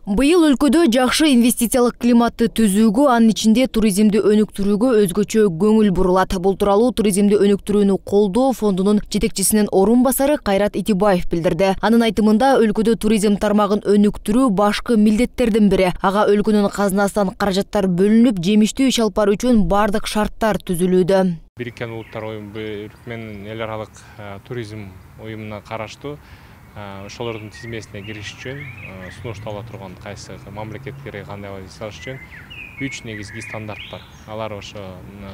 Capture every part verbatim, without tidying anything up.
Быйыл өлкөдө жакшы инвестициялык климатты түзүүгө, анын ичинде туризмди өнүктүрүүгө өзгөчө көңүл бурулат. Бул тууралуу туризмди өнүктүрүүнү колдоо фондунун жетекчисинин орун басары Кайрат Итибаев билдирди. Анын айтымында, өлкөдө туризм тармагын өнүктүрүү башкы милдеттердин бири. Ага өлкөнүн казынасынан каражаттар бөлүнүп, жемиштүү иш алып баруу үчүн бардык шарттар түзүлүүдө. Бириккен Улуттар уюму менен эл аралык туризм уюмуна караштуу ошолордун тизмесине кириш үчүн сунуштала турган кайсы мамлекеттерге кандай жасаш үчүн үч негизги стандарт бар. Алар ошо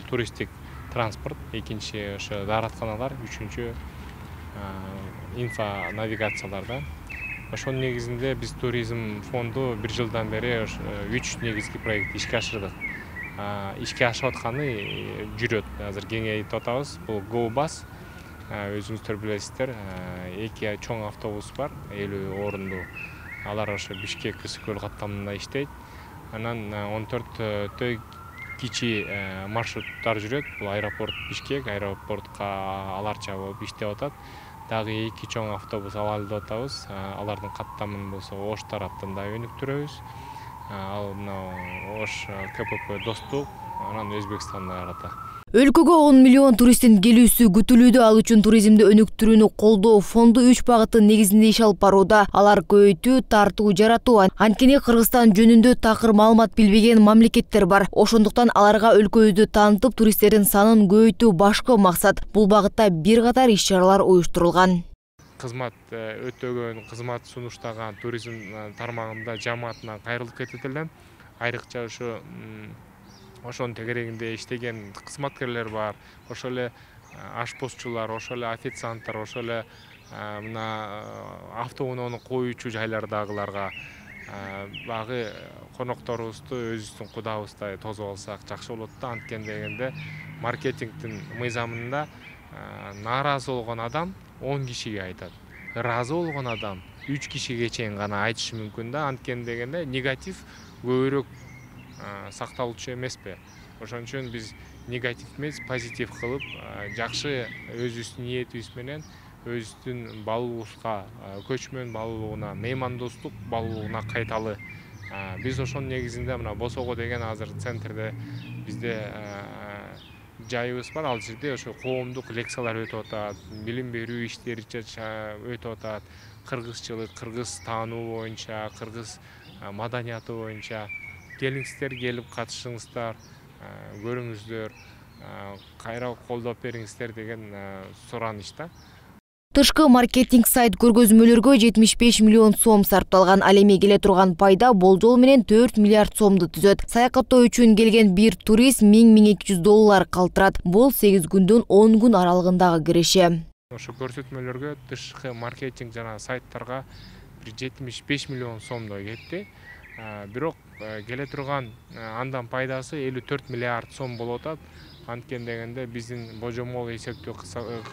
туристтик транспорт, экинчи ошо дааратканалар, үчүнчү инфо навигацияларда. Ошонун негизинде биз туризм фонду бир жылдан бери үч негизги проект ишке ашырдык. Ишке ашып атканы жүрөт. Азыр кеңейтип атабыз. Бул GoBus, өзүңүздөр билесиздер, эки чоң автобус бар, элүү орундуу. Алар ошо Бишкек Ысык-Көл каттамында иштейт. Анан он төрттөй кичи маршруттар жүрөт. Бул аэропорт Бишкек, аэропортко аларча болуп иштеп атат. Дагы эки чоң автобус алалдап атабыз. Алардын каттамын болсо Ош тараптан да өнүктүрөбүз. Ал мына Ош КПП Достук, анан Өзбекстанда карата. Өлкөгө он миллион туристтин келүүсү күтүлүүдө. Ал үчүн туризмди өнүктүрүүнү колдоо фонду үч багыттын негизинде иш алып барууда. Алар көбөйтүү, тартуу жаратуу. Анткени Кыргызстан жөнүндө такыр маалымат билбеген мамлекеттер бар. Ошондуктан аларга өлкөбүздү таанытып, туристтердин санын көбөйтүү башкы максат. Бул багытта бир катар иш-чаралар уюштурулган. Кызмат өтөгөн, кызмат сунуштаган туризм тармагында жамаатына кайрылып кетет элем. Айрыкча ошо ошонун тегерегинде иштеген кызматкерлер бар. Ошол эле ашпозчулар, ошол эле официанттар, ошол эле мына автоуноону коюучу жайлардагыларга багы конокторубузду өзүбүздүн кудабыздай тосуп алсак жакшы болот да. Анткени дегенде маркетингдин мыйзамында нааразы болгон адам он кишиге айтат. Ыраазы болгон адам үч кишиге чейин гана айтышы мүмкүн да. Анткени дегенде негатив көбүрөөк сакталуучу эмеспи. Ошон үчүн биз негатив эмес, позитив кылып, жакшы өзүбүздүн ниетибиз менен өзүбүздүн балубузга, көчмөн балуулугуна, меймандостук балуулугуна кайталы. Биз ошонун негизинде мына Босого деген азыр центрде бизде жайыбыз бар. Ал жерде ошо коомдук лекциялар өтүп атат, билим берүү иштери өтүп атат. Кыргызчылык, кыргыз таануу боюнча, кыргыз маданияты боюнча. Келиңиздер, келип катышыңыздар, көрүңүздөр, кайра колдоп бериңиздер деген суранышта. Тышкы маркетинг сайт көргөзмөлөргө жетимиш беш миллион сом сарпталган. Ал эми келе турган пайда болжол менен төрт миллиард сомду түзөт. Саякаттоо үчүн келген бир турист миң — миң эки жүз доллар калтырат. Бул сегиз күндөн он күн аралыгындагы киреше. Ошо көрсөтмөлөргө тышкы маркетинг жана сайттарга бир жетимиш беш миллион сомдой кетти. Бирок келе турган андан пайдасы элүү төрт миллиард сом болуп атат. Анткени дегенде биздин божомол эсептөө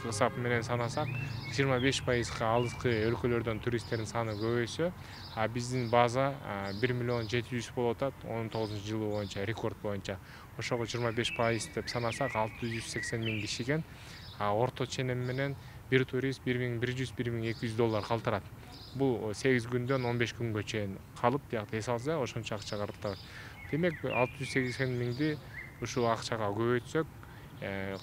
кысап менен санасак, жыйырма беш пайызга алыскы өлкөлөрдөн туристтердин саны көбөйсө, а биздин база бир миллион жети жүз болуп атат он тогузунчу жылы боюнча, рекорд боюнча. Ошого жыйырма беш пайыз деп санасак алты жүз сексен миң кишиген, а орто ченем менен бир турист бир миң бир жүз — бир миң эки жүз доллар калтырат. Бул сегиз күндөн он беш күнгө чейин калып, бияк эс алса, ошончо акча калтырат. Демек алты жүз сексен миңди ушул акчага көбөйтсөк,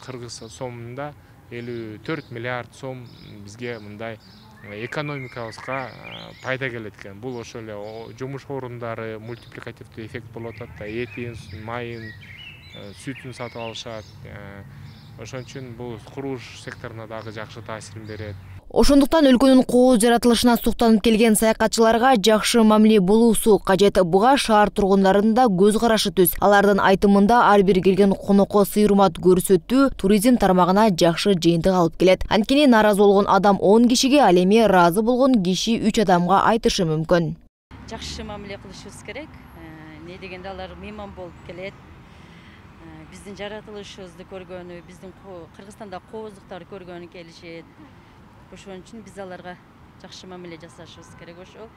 кыргыз сомунда элүү төрт миллиард сом бизге мындай экономикабызга пайда келет экен. Бул ошол эле жумуш орундары, мультипликативдүү эффект болуп атат да. Этин, майын, сүтүн сатып алышат. Ошон үчүн бул курулуш секторуна дагы жакшы таасирин берет. Ошондуктан өлкөнүн кооз жаратылышына суктанып келген саякатчыларга жакшы мамиле болуусу кажет. Буга шаар тургундарынын да көз карашы түз. Алардын айтымында ар бир келген конокко сый-урмат көрсөтүү туризм тармагына жакшы жыйынтык алып келет. Анткени нааразы болгон адам он кишиге, ал эми ыраазы болгон киши үч адамга айтышы мүмкүн. Жакшы мамиле кылышыбыз керек. Не дегенде алар мейман болуп келет. Биздин жаратылышыбызды көргөнү, биздин Кыргызстанда кооздуктарды көргөнү келишет. Ошон үчүн биз аларга жакшы мамиле жасашыбыз керек ошол.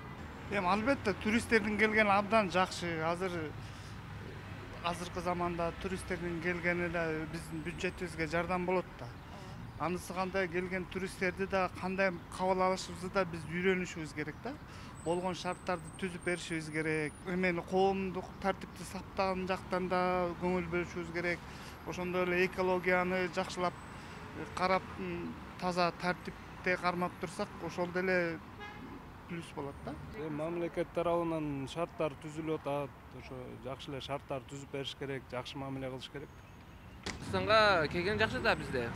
Эми албетте туристтердин келгени абдан жакшы. Азыр азыркы заманда туристтердин келгени эле биздин бюджетибизге жардам болот да. Анысы кандай келген туристтерди да кандай кабыл алышыбызды да биз үйрөнүшүбүз керек да. болгон шарттарды түзүп беришибиз керек. Эмени коомдук тартипти сактаган жактан да көңүл бөлүшүбүз керек. Ошондой эле экологияны жакшылап карап, таза тартипте кармап турсак, ошол деле плюс болот да. Мамлекет тарабынан шарттар түзүлүп атат. Ошо жакшы эле шарттар түзүп бериш керек, жакшы мамиле кылыш керек. Кыргызстанга келген жакшы да бизде.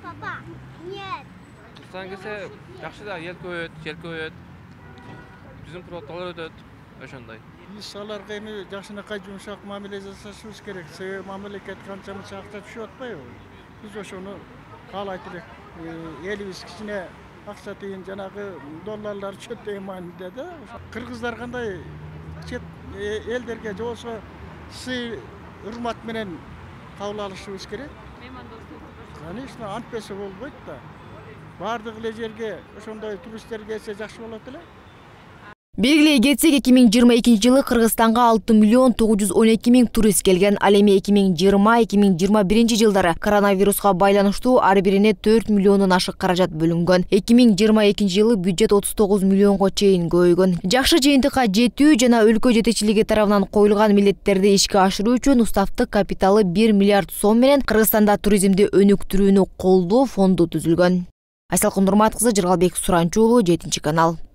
Папа, нет. Кыргызстанга келсе жакшы да, эл көбөйөт, жер көбөйөт. Биздин продукттар өтөт, ошондой. Биз аларга эми жакшынакай жумшак мамиле жасашыбыз керек. Себеби мамлекет канча мынча акча түшүп атпайбы? Биз ошону каалайт элек. Элибиз кичине акча тыйын, жанагы долларлар чөптөй маанидә да. Кыргыздар кандай чет элдерге же болсо сый урмат менен кабыл алышыбыз керек. Конечно, антпесе болбойт да. Бардык эле жерге ошондой туристтер келсе жакшы болот эле. Белгилей кетсек, эки миң жыйырма экинчи жылы Кыргызстанга алты миллион тогуз жүз он эки миң турист келген. Ал эми эки миң жыйырма эки миң жыйырма биринчи жылдары коронавируска байланыштуу ар бирине төрт миллиондон ашык каражат бөлүнгөн. эки миң жыйырма экинчи жылы бюджет отуз тогуз миллионго чейин көбөйгөн. Жакшы жыйынтыкка жетүү жана өлкө жетекчилиги тарабынан коюлган милдеттерди ишке ашыруу үчүн уставдык капиталы бир миллиард сом менен Кыргызстанда туризмди өнүктүрүүнү колдоо фонду түзүлгөн. Айсалкын Нурмат кызы, Жыргалбек Суранчу уулу, жетинчи канал.